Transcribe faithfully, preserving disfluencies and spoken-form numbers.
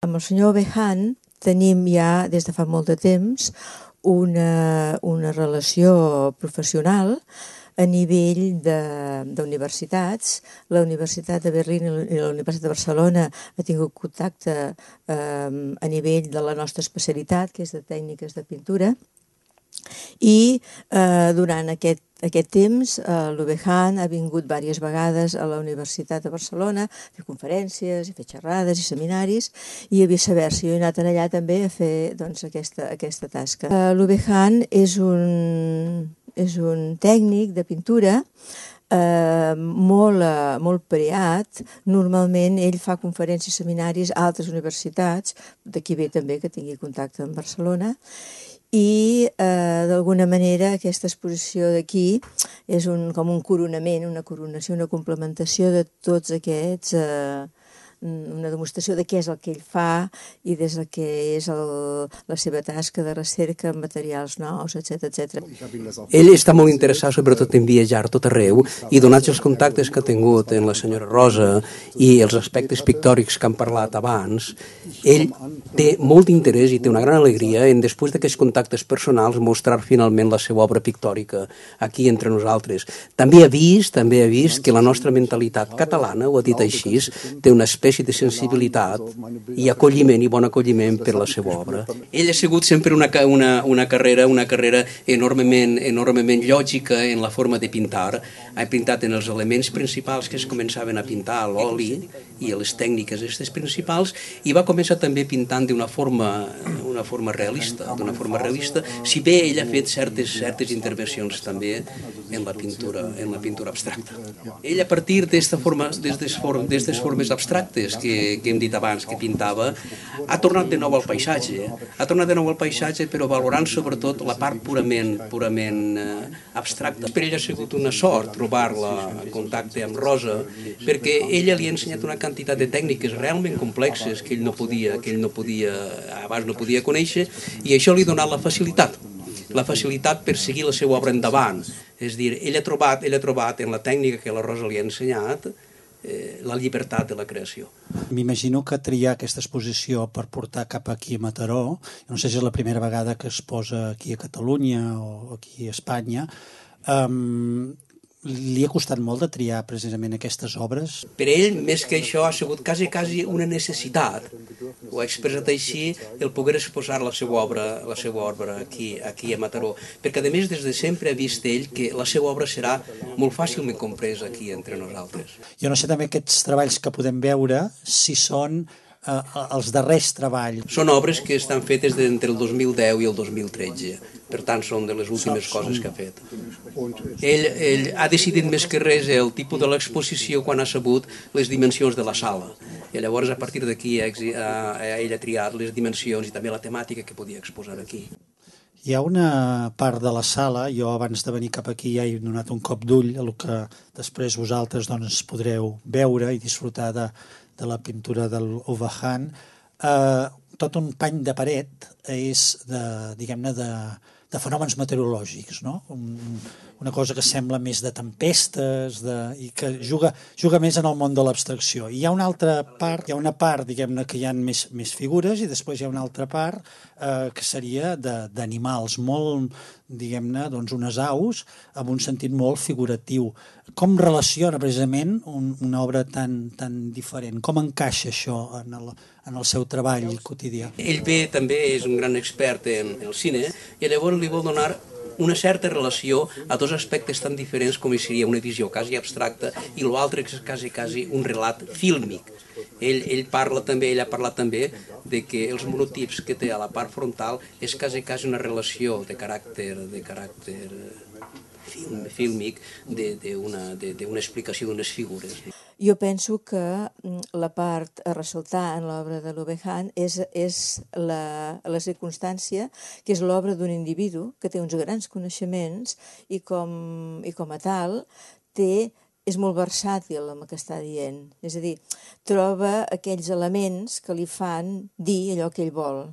Amb el senyor Ovejan tenim ja des de fa molt de temps una, una relació professional a nivell d'universitats. La Universitat de Berlín i la Universitat de Barcelona ha tingut contacte eh, a nivell de la nostra especialitat, que és de tècniques de pintura, i eh, durant aquest, aquest temps eh, l'Ovejan ha vingut diverses vegades a la Universitat de Barcelona a fer conferències, a fer xerrades i seminaris, i a viceversa. Jo he anat allà també a fer doncs, aquesta, aquesta tasca. Eh, L'Ovejan és un, és un tècnic de pintura Eh, molt, eh, molt preat. Normalment ell fa conferències i seminaris a altres universitats, d'aquí ve també que tingui contacte amb Barcelona, i eh, d'alguna manera aquesta exposició d'aquí és un, com un coronament, una coronació, una complementació de tots aquests, eh, una demostració de què és el que ell fa i des del que és el, la seva tasca de recerca en materials nous, etcètera, etcètera. Ell està molt interessat sobretot en viatjar tot arreu i donats els contactes que ha tingut en la senyora Rosa i els aspectes pictòrics que han parlat abans, ell té molt interès i té una gran alegria en, després d'aquests contactes personals, mostrar finalment la seva obra pictòrica aquí entre nosaltres. També ha vist, també ha vist que la nostra mentalitat catalana, ho ha dit així, té una espècie de sensibilitat i acolliment i bon acolliment per la seva obra. Ell ha sigut sempre una, una, una carrera una carrera enormement, enormement lògica en la forma de pintar. Ha pintat en els elements principals que es començaven a pintar, l'oli i les tècniques aquestes principals, i va començar també pintant d'una forma, una forma realista, d'una forma realista, si bé ell ha fet certes, certes intervencions també en la pintura, en la pintura abstracta. Ell, a partir d'aquestes formes, d'aquestes formes abstractes que, que hem dit abans que pintava, ha tornat de nou al paisatge, ha tornat de nou al paisatge, però valorant sobretot la part purament, purament eh, abstracta. Per ell ha sigut una sort trobar-la en contacte amb Rosa, perquè ella li ha ensenyat una quantitat de tècniques realment complexes que ell no podia, que ell no podia, abans no podia conèixer, i això li ha donat la facilitat, la facilitat per seguir la seva obra endavant. És a dir, ell ha trobat, ell ha trobat en la tècnica que la Rosa li ha ensenyat eh, la llibertat de la creació. M'imagino que triar aquesta exposició per portar cap aquí a Mataró, no sé si és la primera vegada que es posa aquí a Catalunya o aquí a Espanya, um, li ha costat molt de triar precisament aquestes obres? Per ell, més que això, ha sigut quasi, quasi una necessitat. Ho ha expressat així, el poder exposar la seva obra, la seva obra aquí, aquí a Mataró. Perquè, a més, des de sempre ha vist ell que la seva obra serà molt fàcilment compresa aquí entre nosaltres. Jo no sé també aquests treballs que podem veure, si són eh, els darrers treballs. Són obres que estan fetes entre el dos mil deu i el dos mil tretze. Per tant, són de les últimes coses que ha fet. Ell, ell ha decidit més que res el tipus de l'exposició quan ha sabut les dimensions de la sala. I llavors, a partir d'aquí, ell ha triat les dimensions i també la temàtica que podia exposar aquí. Hi ha una part de la sala, jo abans de venir cap aquí ja he donat un cop d'ull a el que després vosaltres doncs, podreu veure i disfrutar de, de la pintura de l'Ovejan. Eh, tot un pany de paret és de, diguem-ne, de, de fenòmens meteorològics, no? Un, una cosa que sembla més de tempestes de, i que juga, juga més en el món de l'abstracció. I hi ha una altra part, hi ha una part, diguem-ne, que hi ha més, més figures i després hi ha una altra part eh, que seria d'animals, molt, diguem-ne, doncs unes aus amb un sentit molt figuratiu. Com relaciona precisament un, una obra tan, tan diferent? Com encaixa això en el, en el seu treball quotidià? Ell ve també, és un gran expert en el cine, i llavors li vol donar una certa relació a dos aspectes tan diferents com seria una visió quasi abstracta i l'altre que és quasi, quasi un relat fílmic. Ell, ell parla també, ell ha parlat també de que els monotips que té a la part frontal és quasi, quasi una relació de caràcter, de caràcter film, fílmic d'una explicació d'unes figures. Jo penso que la part a ressaltar en l'obra de l'Ovejan és, és la, la circumstància que és l'obra d'un individu que té uns grans coneixements i com, i com a tal té, és molt versàtil amb el que està dient. És a dir, troba aquells elements que li fan dir allò que ell vol.